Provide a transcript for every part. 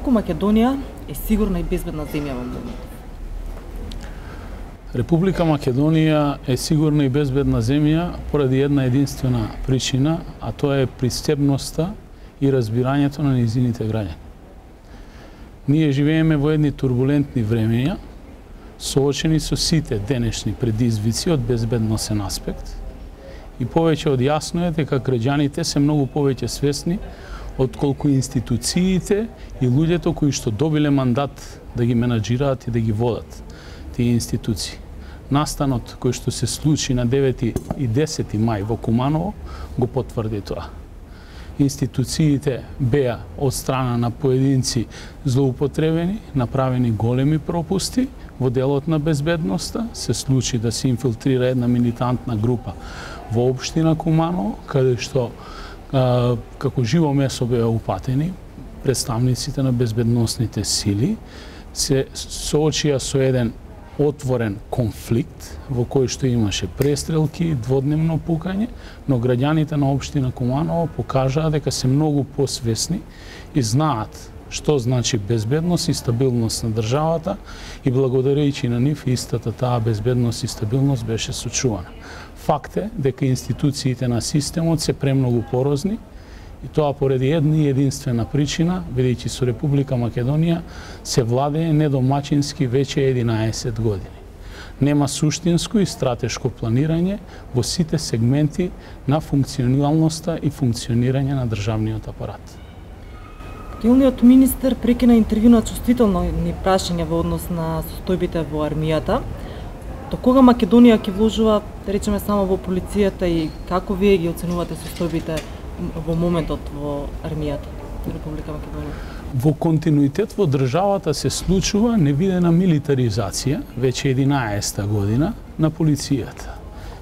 Доколку Македонија е сигурна и безбедна земја во моментот? Република Македонија е сигурна и безбедна земја поради една единствена причина, а тоа е пристебноста и разбирањето на низините граѓани. Ние живееме во едни турбулентни времења, соочени со сите денешни предизвици од безбедносен аспект, и повеќе од јасно е дека граѓаните се многу повеќе свесни отколку институциите и луѓето кои што добиле мандат да ги менаџираат и да ги водат тие институции. Настанот кој што се случи на 9 и 10 мај во Куманово го потврди тоа. Институциите беа од страна на поединци злоупотребени, направени големи пропусти во делот на безбедноста, се случи да се инфилтрира една милитантна група во општина Куманово, каде што како живо месо беа упатени представниците на безбедносните сили, се соочија со еден отворен конфликт во кој што имаше престрелки, дводневно пукање, но граѓаните на општина Куманово покажаа дека се многу посвесни и знаат што значи безбедност и стабилност на државата, и благодарејќи на нив истата таа безбедност и стабилност беше сочувана. Факт е дека институциите на системот се премногу порозни, и тоа поради една и единствена причина, бидејќи со Република Македонија се владее недомачински веќе 11 години. Нема суштинско и стратешко планирање во сите сегменти на функционалноста и функционирање на државниот апарат. Актуелниот министер прекина интервју на чувствителни прашања во однос на состојбите во армијата. До кога Македонија ќе вложува, да речеме, само во полицијата, и како вие ги оценувате состојбите во моментот во армијата на Република Македонија? Во континуитет во државата се случува невидена милитаризација веќе 11-та година на полицијата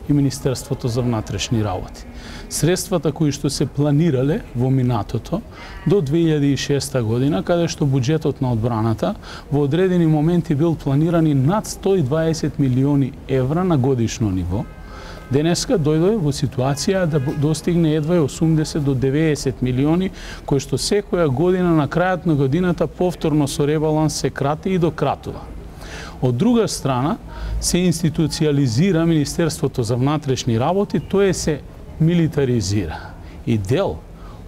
и Министерството за внатрешни работи. Средствата кои што се планирале во минатото до 2006 година, каде што буџетот на одбраната во одредени моменти бил планирани над 120 милиони евра на годишно ниво, денеска дојде во ситуација да достигне едва 80 до 90 милиони, кои што секоја година на крајот на годината повторно со ребаланс се крати и дократува. Од друга страна, се институциализира Министерството за внатрешни работи, тоа се милитаризира. И дел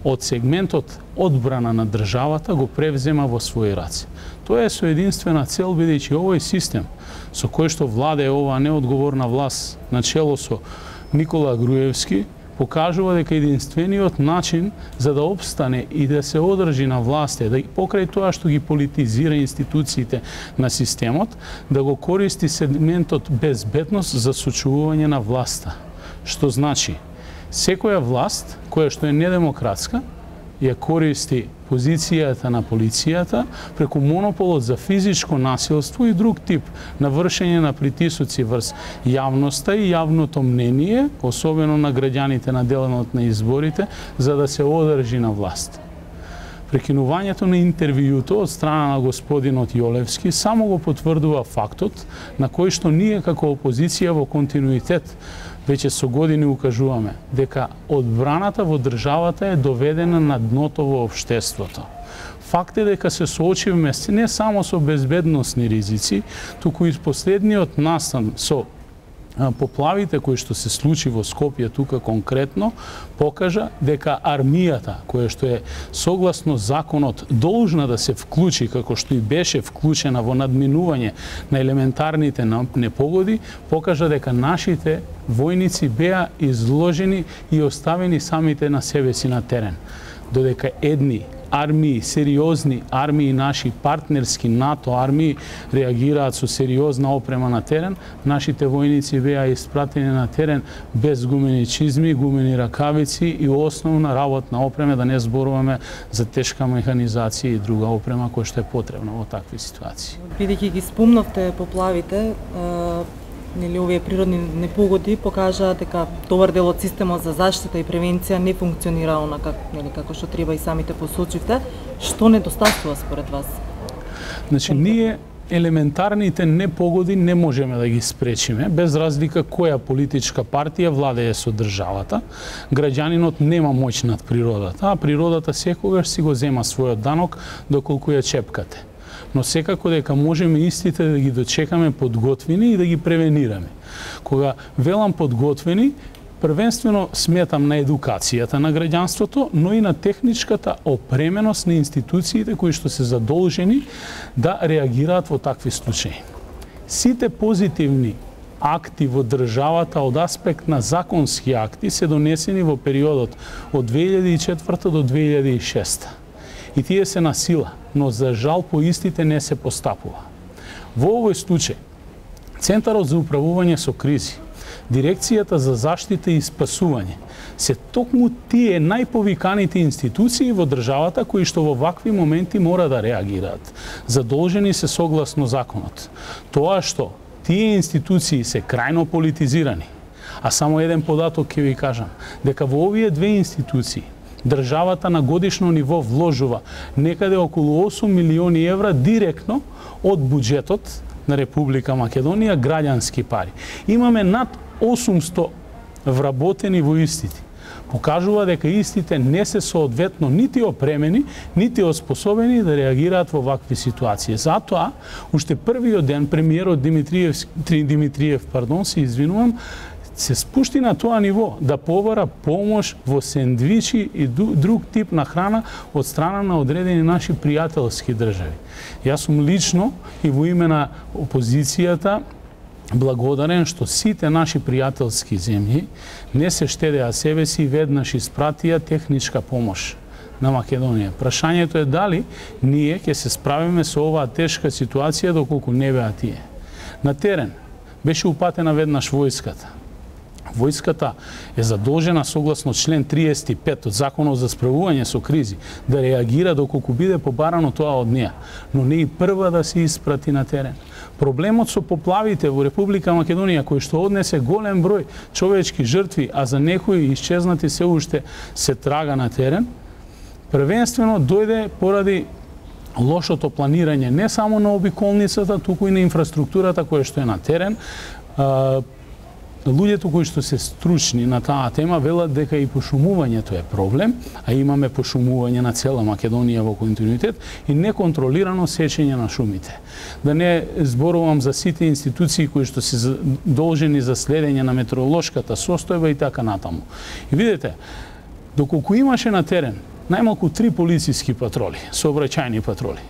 од сегментот одбрана на државата го превзема во своји раце. Тоа е со единствена цел, бидејќи овој систем со кој што владее оваа неодговорна власт на чело со Никола Груевски покажува дека единствениот начин за да опстане и да се одржи на власт е да покрај тоа што ги политизира институциите на системот, да го користи сегментот безбедност за сочувување на власта. Што значи, секоја власт која што е недемократска ја користи позицијата на полицијата преку монополот за физичко насилство и друг тип на вршење на притисоци врз јавноста и јавното мнение, особено на граѓаните на денот на изборите, за да се одржи на власт. Прекинувањето на интервјуто од страна на господинот Јолевски само го потврдува фактот на кој што ние како опозиција во континуитет веќе со години укажуваме дека одбраната во државата е доведена на дното во општеството. Факт е дека се соочивме не само со безбедносни ризици, туку и последниот настан со поплавите кои што се случи во Скопје тука конкретно, покажа дека армијата, која што е согласно законот должна да се вклучи, како што и беше вклучена во надминување на елементарните непогоди, покажа дека нашите војници беа изложени и оставени самите на себе си на терен. Додека едни армии, сериозни армии, наши партнерски НАТО армии реагираат со сериозна опрема на терен, нашите војници беа испратени на терен без гумени чизми, гумени ракавици и основна работна опрема, да не зборуваме за тешка механизација и друга опрема која што е потребна во такви ситуации. Бидејќи ги спомнавте поплавите, нели овие природни непогоди покажаа дека добар дел од системот за заштита и превенција не функционира онака, нели, како што треба, и самите посочивте. Што недостасува според вас? Значи, ние елементарните непогоди не можеме да ги спречиме, без разлика која политичка партија владее со државата. Граѓанинот нема моќ над природата, а природата секогаш си го зема својот данок доколку ја чепкате. Но секако дека можеме истите да ги дочекаме подготвени и да ги превенираме. Кога велам подготвени, првенствено сметам на едукацијата на граѓанството, но и на техничката опременост на институциите кои што се задолжени да реагираат во такви случаи. Сите позитивни акти во државата од аспект на законски акти се донесени во периодот од 2004 до 2006. И тие се на сила, но за жал по истите не се постапува. Во овој случај, Центарот за управување со кризи, Дирекцијата за заштита и спасување се токму тие најповиканите институции во државата кои што во вакви моменти мора да реагираат. Задолжени се согласно законот. Тоа што тие институции се крајно политизирани, а само еден податок ќе ви кажам, дека во овие две институции државата на годишно ниво вложува некаде околу 8 милиони евра директно од буџетот на Република Македонија граѓански пари. Имаме над 800 вработени во истите. Покажува дека истите не се соодветно нити опремени, нити оспособени да реагираат во вакви ситуации. Затоа, уште првиот ден премиерот Димитриев, се извинувам, се спушти на тоа ниво да побара помош во сендвичи и друг тип на храна од страна на одредени наши пријателски држави. Јас сум лично и во име на опозицијата благодарен што сите наши пријателски земји не се штедеа себе си и веднаш испратија техничка помош на Македонија. Прашањето е дали ние ќе се справиме со оваа тешка ситуација доколку не беа тие. На терен беше упатена веднаш војската. Војската е задолжена согласно член 35 од Законот за справување со кризи да реагира доколку биде побарано тоа од неа, но не и прва да се испрати на терен. Проблемот со поплавите во Република Македонија, кој што однесе голем број човечки жртви, а за некои исчезнати се уште се трага на терен, првенствено дојде поради лошото планирање не само на обиколницата, туку и на инфраструктурата која што е на терен. Луѓето кои што се стручни на таа тема велат дека и пошумувањето е проблем, а имаме пошумување на цела Македонија во континуитет и неконтролирано сечење на шумите. Да не зборувам за сите институции кои што се должени за следење на метеоролошката состојба и така натаму. И видите, доколку имаше на терен најмалку 3 полициски патроли, сообраќајни патроли,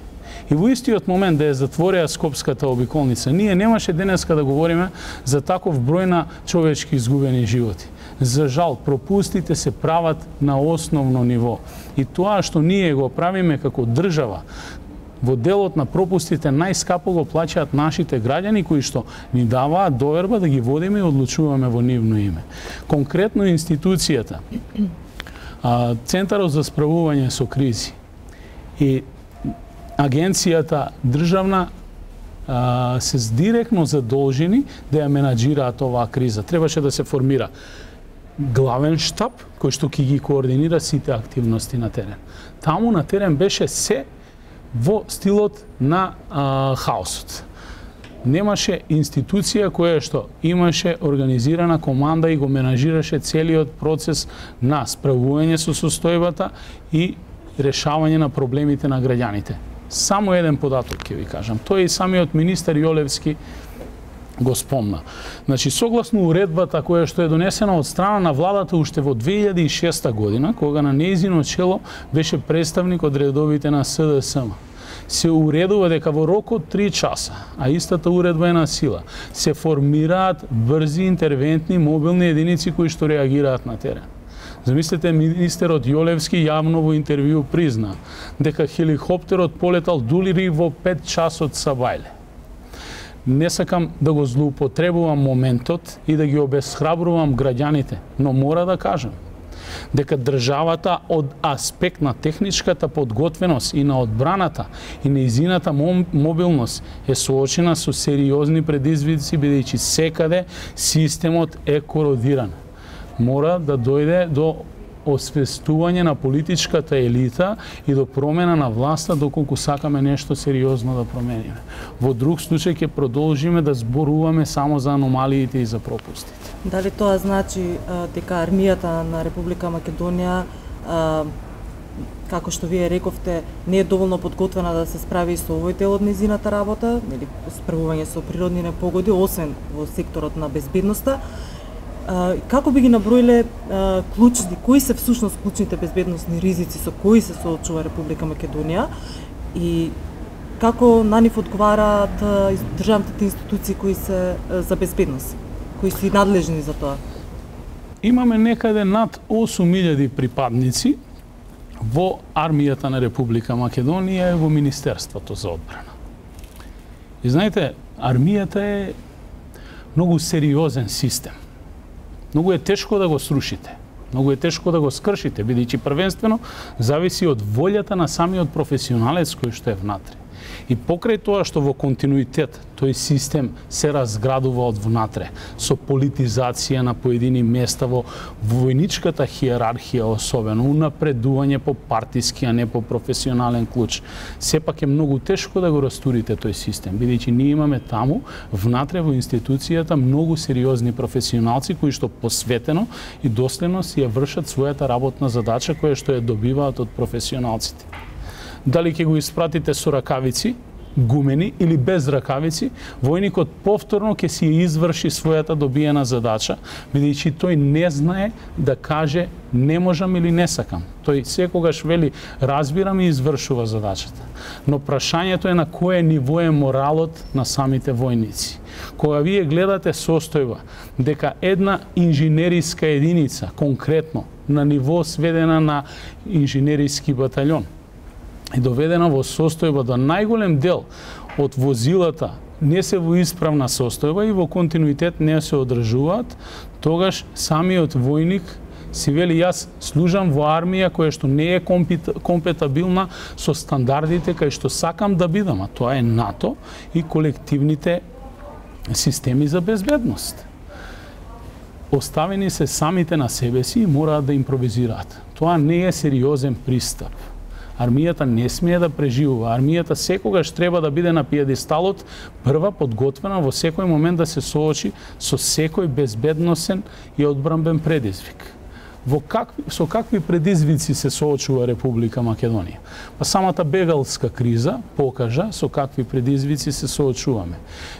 и во истиот момент да ја затворија Скопската обиколница, ние немаше денеска да говориме за таков број на човечки изгубени животи. За жал, пропустите се прават на основно ниво. И тоа што ние го правиме како држава, во делот на пропустите најскапо го плаќаат нашите граѓани кои што ни даваат доверба да ги водиме и одлучуваме во нивно име. Конкретно институцијата, Центарот за справување со кризи и Агенцијата државна се директно задолжени да ја менаџираат оваа криза. Требаше да се формира главен штаб кој што ќе ги координира сите активности на терен. Таму на терен беше се во стилот на хаосот. Немаше институција која што имаше организирана команда и го менаџираше целиот процес на справување со состојбата и решавање на проблемите на граѓаните. Само еден податок ќе ви кажам. Тој и самиот министер Јолевски го спомна. Значи, согласно уредбата која што е донесена од страна на владата уште во 2006 година, кога на нејзино чело беше представник од редовите на СДСМ, се уредува дека во рок од 3 часа, а истата уредба е на сила, се формираат брзи интервентни мобилни единици кои што реагираат на терен. Замислете, министерот Јолевски јавно во интервју призна дека хеликоптерот полетал дури во 5 часот са бајле. Не сакам да го злоупотребувам моментот и да ги обесхрабрувам граѓаните, но мора да кажам дека државата од аспект на техничката подготвеност и на одбраната и нејзината мобилност е соочена со сериозни предизвици, бидејќи секаде системот е кородиран. Мора да дојде до освестување на политичката елита и до промена на власта доколку сакаме нешто сериозно да промениме. Во друг случај ќе продолжиме да зборуваме само за аномалиите и за пропустите. Дали тоа значи дека армијата на Република Македонија, како што вие рековте, не е доволно подготвена да се справи со овој дел од незината работа, или справување со природни непогоди, освен во секторот на безбедноста? Како би ги наброиле клучни, кои се всушност клучните безбедносни ризици со кои се соочува Република Македонија и како на нив одговараат државните институции кои се за безбедност, кои се надлежни за тоа? Имаме некаде над 8000 припадници во армијата на Република Македонија и во Министерството за одбрана. И знаете, армијата е многу сериозен систем. Многу е тешко да го срушите, многу е тешко да го скршите, бидејќи првенствено зависи од волјата на самиот професионалец кој што е внатре. И покрај тоа што во континуитет тој систем се разградува од внатре, со политизација на поедини места во војничката хиерархија, особено унапредување по партиски, а не по професионален клуч. Сепак е многу тешко да го растурите тој систем, бидејќи ние имаме таму внатре во институцијата многу сериозни професионалци кои што посветено и доследно си ја вршат својата работна задача која што ја добиваат од професионалците. Дали ќе го испратите со ракавици, гумени или без ракавици, војникот повторно ќе си изврши својата добиена задача, бидејќи тој не знае да каже не можам или не сакам. Тој секогаш вели разбирам и извршува задачата. Но прашањето е на кое ниво е моралот на самите војници. Кога вие гледате состојба дека една инженериска единица, конкретно на ниво сведена на инженериски батальон, и доведена во состојба до најголем дел од возилата не се во исправна состојба и во континуитет не се одржуваат, тогаш самиот војник си вели јас служам во армија која што не е компетабилна со стандардите кај што сакам да бидам, а тоа е НАТО и колективните системи за безбедност. Оставени се самите на себе си и мораат да импровизираат. Тоа не е сериозен пристап. Армијата не смее да преживува. Армијата секогаш треба да биде на пиедесталот, прва подготвена во секој момент да се соочи со секој безбедносен и одбранбен предизвик. Со какви предизвици се соочува Република Македонија? Па самата бегалска криза покажа со какви предизвици се соочуваме.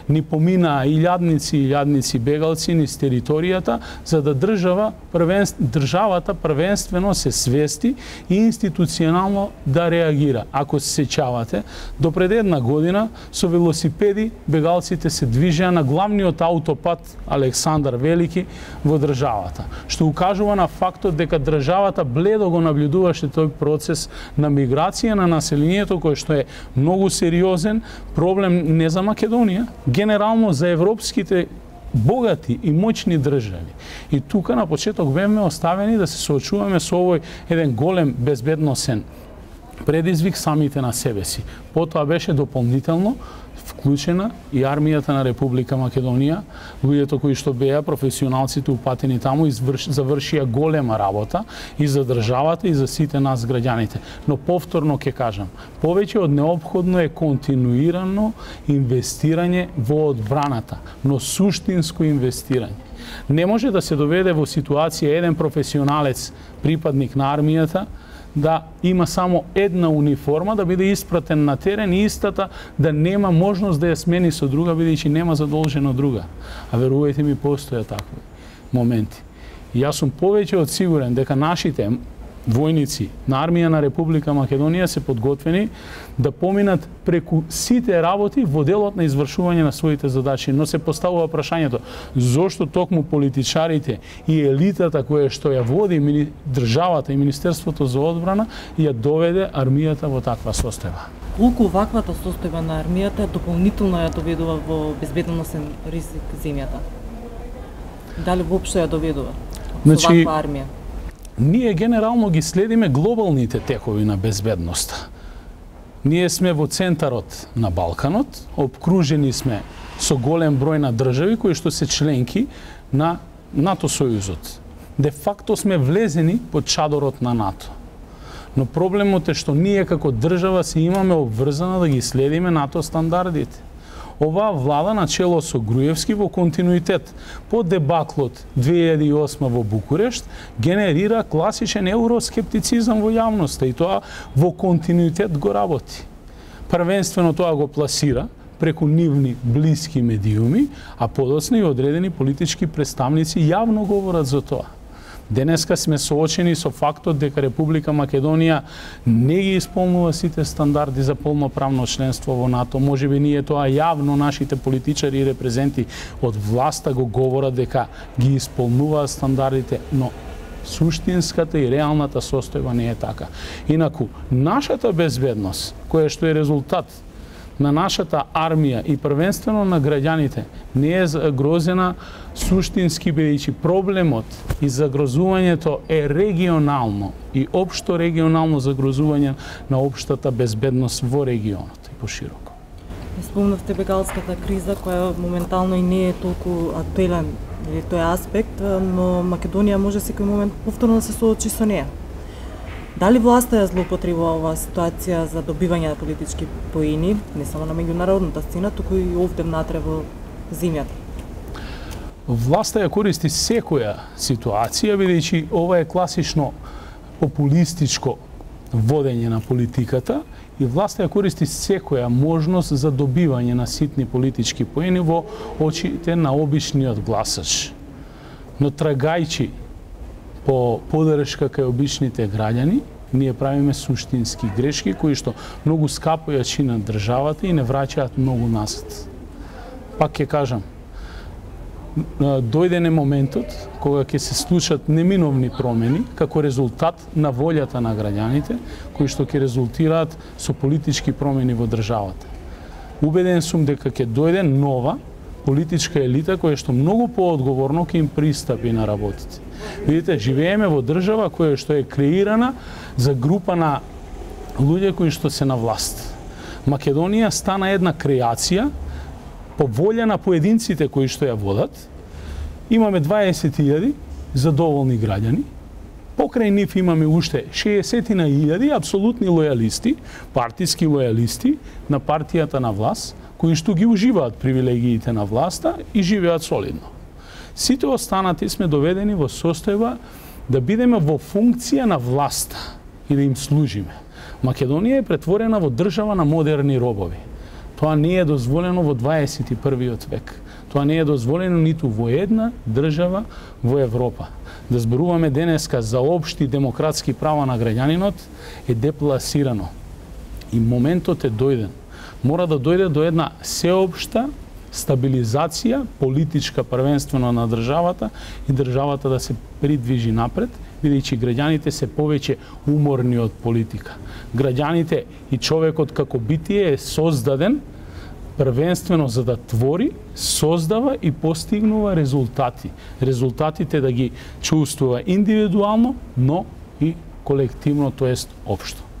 Ни поминаа илјадници бегалци низ територијата, за да државата првенствено се свести и институционално да реагира. Ако се сеќавате, до пред една година со велосипеди бегалците се движеа на главниот аутопат Александар Велики во државата, што укажува на фактот дека државата бледо го наблюдуваше тој процес на миграција на населението, кој што е многу сериозен проблем не за Македонија, генерално за европските богати и моćни држави. И тука на почеток бевме оставени да се соочуваме со овој еден голем безбедносен предизвик самите на себе си. Потоа беше дополнително вклучена и армијата на Република Македонија, луѓето кои што беа професионалците упатени таму завршија голема работа и за државата и за сите нас граѓаните. Но повторно ќе кажам, повеќе од неопходно е континуирано инвестирање во одбраната, но суштинско инвестирање. Не може да се доведе во ситуација еден професионалец, припадник на армијата, да има само една униформа, да биде испратен на терен и истата да нема можност да ја смени со друга, бидејќи нема задолжено друга. А верувајте ми, постојат такви моменти. И јас сум повеќе од сигурен дека нашите војници на армија на Република Македонија се подготвени да поминат преку сите работи во делот на извршување на своите задачи, но се поставува прашањето зошто токму политичарите и елитата која што ја води државата и Министерството за одбрана ја доведе армијата во таква состојба. Колку ваквата состојба на армијата дополнително ја доведува во безбедносен ризик земјата? Дали воопшто ја доведува со ваква армија? Ние генерално ги следиме глобалните текови на безбедноста. Ние сме во центарот на Балканот, обкружени сме со голем број на држави кои што се членки на НАТО сојузот. де факто сме влезени под чадорот на НАТО. Но проблемот е што ние како држава се имаме обврзано да ги следиме НАТО стандардите. Оваа влада на чело со Груевски во континуитет по дебаклот 2008 во Букурешт генерира класичен евроскептицизам во јавноста и тоа во континуитет го работи. Првенствено тоа го пласира преку нивни блиски медиуми, а подоцна и одредени политички представници јавно говорат за тоа. Денеска сме соочени со фактот дека Република Македонија не ги исполнува сите стандарди за полноправно членство во НАТО. Можеби ние тоа јавно нашите политичари и репрезенти од власта го говорат дека ги исполнуваат стандардите, но суштинската и реалната состојба не е така. Инаку, нашата безбедност, која што е резултат на нашата армија и првенствено на граѓаните, не е загрозена суштински, бидејќи проблемот и загрозувањето е регионално и општо регионално загрозување на општата безбедност во регионот и пошироко. Спомнавте бегалската криза, која моментално и не е толку актуелен или тој аспект, но Македонија може секој момент повторно да се соочи со неа. Дали власта ја злоупотребува оваа ситуација за добивање на политички поени, не само на меѓународната сцена, туку и овде внатре во земјата? Власта ја користи секоја ситуација, бидејќи ова е класично популистичко водење на политиката и власта ја користи секоја можност за добивање на ситни политички поени во очите на обичниот гласач. Но трагајќи по подршка кај обичните граѓани, ние правиме суштински грешки кои што многу скапо ја чинат државата и не враќаат многу назад. Пак ќе кажам, дојдене моментот кога ќе се случат неминовни промени како резултат на волјата на граѓаните, кои што ќе резултираат со политички промени во државата. Убеден сум дека ќе дојде нова политичка елита која што многу поодговорно ќе им пристапи на работите. Видите, живееме во држава која што е креирана за група на луѓе кои што се на власт. Македонија стана една креација по волја на поединците кои што ја водат. Имаме 20.000 задоволни граѓани. Покрај нив имаме уште 60.000 апсолутни лојалисти, партиски лојалисти на партијата на власт, кои што ги уживаат привилегиите на власта и живеат солидно. Сите останати сме доведени во состојба да бидеме во функција на власта и да им служиме. Македонија е претворена во држава на модерни робови. Тоа не е дозволено во 21. век. Тоа не е дозволено ниту во една држава во Европа. Да зборуваме денеска за општи демократски права на граѓанинот е депласирано. И моментот е дојден. Мора да дојде до една сеопшта стабилизација политичка првенствено на државата и државата да се придвижи напред, бидејќи граѓаните се повеќе уморни од политика. Граѓаните и човекот како битие е создаден првенствено за да твори, создава и постигнува резултати. Резултатите да ги чувствува индивидуално, но и колективно, тоест општо.